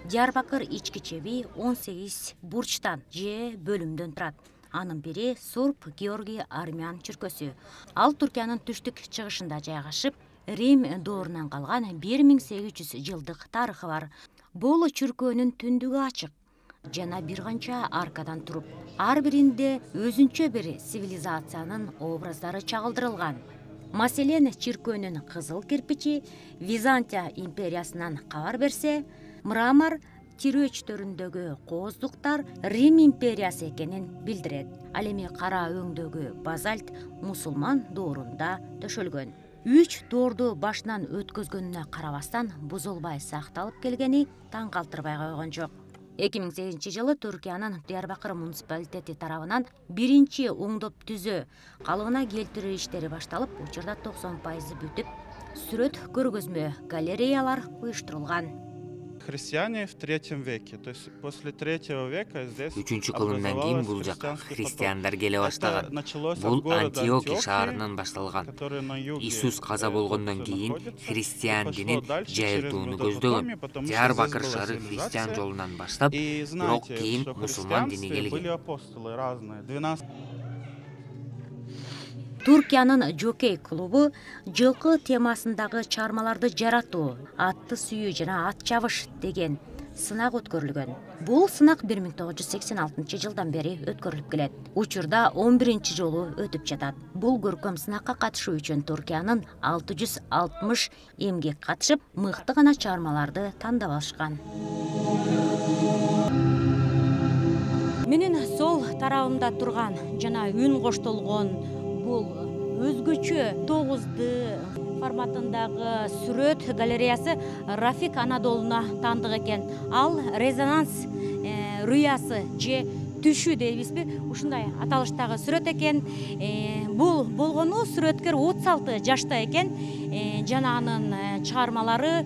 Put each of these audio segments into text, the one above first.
Диярбакыр ички чеби 18 бурчтан же бөлүмдөн турат. Анын бири Сурп Георгий Армян чүркөсү. Ал Түркиянын түштүк чыгышында жайгашып, Рим доорунан калган 1800 жылдык тарыхы бар. Бул чүркөөнүн түндүгү ачык жана бир канча аркадан туруп, ар биринде өзүнчө бир цивилизациянын образдары чагылдырылган. Маселен, чиркөөнүн кызыл кирпичи Византия империясынан кабар берсе, мрамор тирөөчтөрүндөгү кооздуктар Рим империясы экенин билдирет. Ал эми кара өңдөгү базальт мусулман доорунда төшөлгөн. 3 доорду башынан өткөзгөнүнө карабастан бузулбай сакталып келгени таң калтырбай койгон жок. 2008 жылы Түркиянын Диярбакыр муниципалитети тарабынан биринчи оңдоп түзөө, калыбына келтирүү иштери башталып, учурда 90% бүтүп, сүрөт көргөзмө галереялар уюштурулган. Христиане в 3 веке, то есть после 3 века здесь 3 кылымдан кийин бул жака христиандар келе баштаган. Бул Антиохия шаарынан башталган. Иисус каза болгондон кийин христиан динин жайылтууну көздөгөн. Диярбакыр шаары христиан жолунан баштап, бирок кийин мусулман дини келген. Түркиянын жокей клубу жылкы темасындагы чыгармаларды жаратуу, атты сүйүү жана ат чабыш деген сынак өткөрүлгөн. Бул сынак 1986 жылдан бери өткөрүлүп келет. Учурда 11 жолу өтүп жатат. Бул көркөм сынакка катышуу үчүн Түркиянын 660 эмгек катышып, мыкты гана чыгармаларды тандап алышкан. Менин сол тарабымда турган жана үн коштолгон бул өзгөчө 9D форматындагы сүрөт галереясы Рафик Анадолуна таандык экен. Ал резонанс рыясы же түшү дейбизби, ушундай аталыштагы сүрөт экен. Бул болгону сүрөткер 36 жашта экен. Жана анын чыгармалары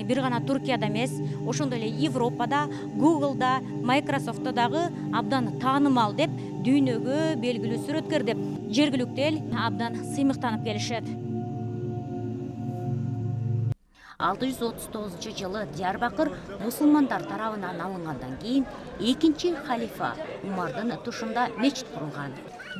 бир гана Түркияда эмес, ошондой эле Европада, Google'да, Microsoft'та дагы абдан таанымал деп, дүйнөгө белгилүү сүрөткер деп жергиликтүү эл абдан сыймыктанып келишет. 639 жылы Диярбакыр мусулмандар тарабынан алынгандан кийин экинчи халифа Умардын тушунда мечит курулган.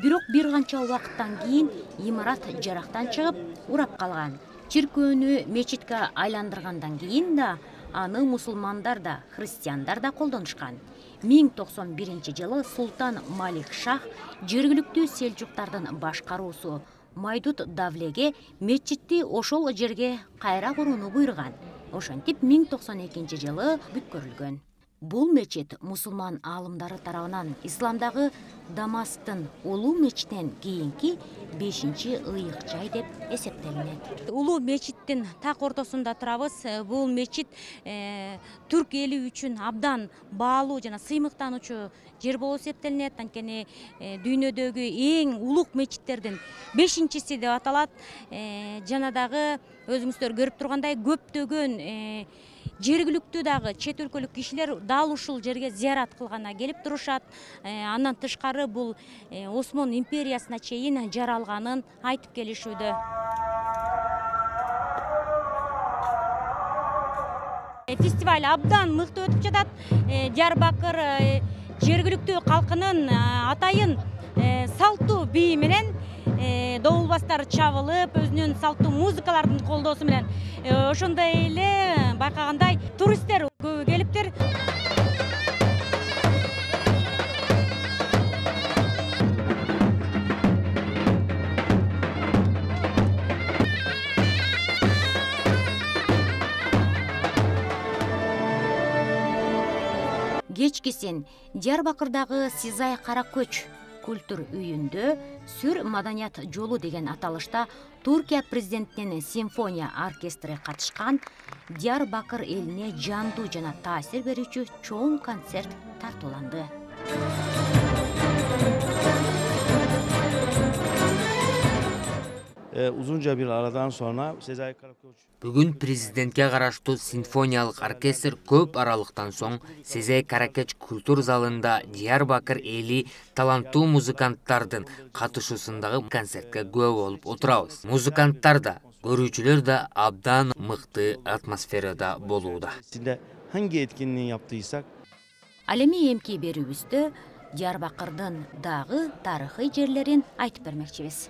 Бирок бир канча убакыттан кийин имарат жарактан чыгып, урап калган. Чиркөөнү мечитке айландыргандан кийин да аны мусулмандар да, христиандар да колдонушкан. 1091 жылы Султан Малик Шах жергиликтүү селжуктардын башкаруусу Майдут Давлеге мечитти ошол жерге кайра курууну буйруган. Ошентип 1092 жылы бүткөрүлгөн. Бул мечит мусулман аалымдары тарабынан исламдагы Дамасктын улуу мечитинен кийинки 5-ыйык жай деп эсептелинет. Улуу мечиттин так ортосунда турабыз. Бул мечит түрк эли үчүн абдан баалуу жана сыймыктануучу жер болуп эсептелинет. Анткени дүйнөдөгү эң улук мечиттердин 5-си деп аталат. Жана дагы өзүңүздөр көрүп тургандай көптөгөн жергиликтүү дагы чет өлкөлүк кишилер дал ушул жерге зыярат кылгана келип турушат. Андан тышкары бул Осмон империясына чейин жаралганын айтып келишүүдө. Фестиваль абдан мыкты өтүп жатат. Диярбакыр жергиликтүү калкынын атайын салттуу бии менен добулбастар чабылып, өзүнүн салттуу музыкалардын колдоосу менен ошондой эле байкагандай туристтер көп келиптир. Кечкисин Диярбакырдагы Сизай Каракөч культур үйүндө Сүр маданият жолу деген аталышта Түркия президентинин симфония оркестри катышкан Диярбакыр элине жандуу жана таасир берүүчү чоң концерт тартууланды. Uzunca bir aradan sonra Sezai Karakoç Бүгүн президентке караштуу симфониялык оркестр көп аралыктан соң Сезей Каракеч культур залында Диярбакыр эли таланттуу музыканттардын катышуусундагы концертке күбө болуп отурабыз. Музыканттар да, көрүүчүлөр да абдан мыкты атмосферада болууда. hangi etkinliği yaptıysak Ал эми эмки берүүбүздө Диярбакырдын дагы тарыхый жерлерин айтып бермекчибиз.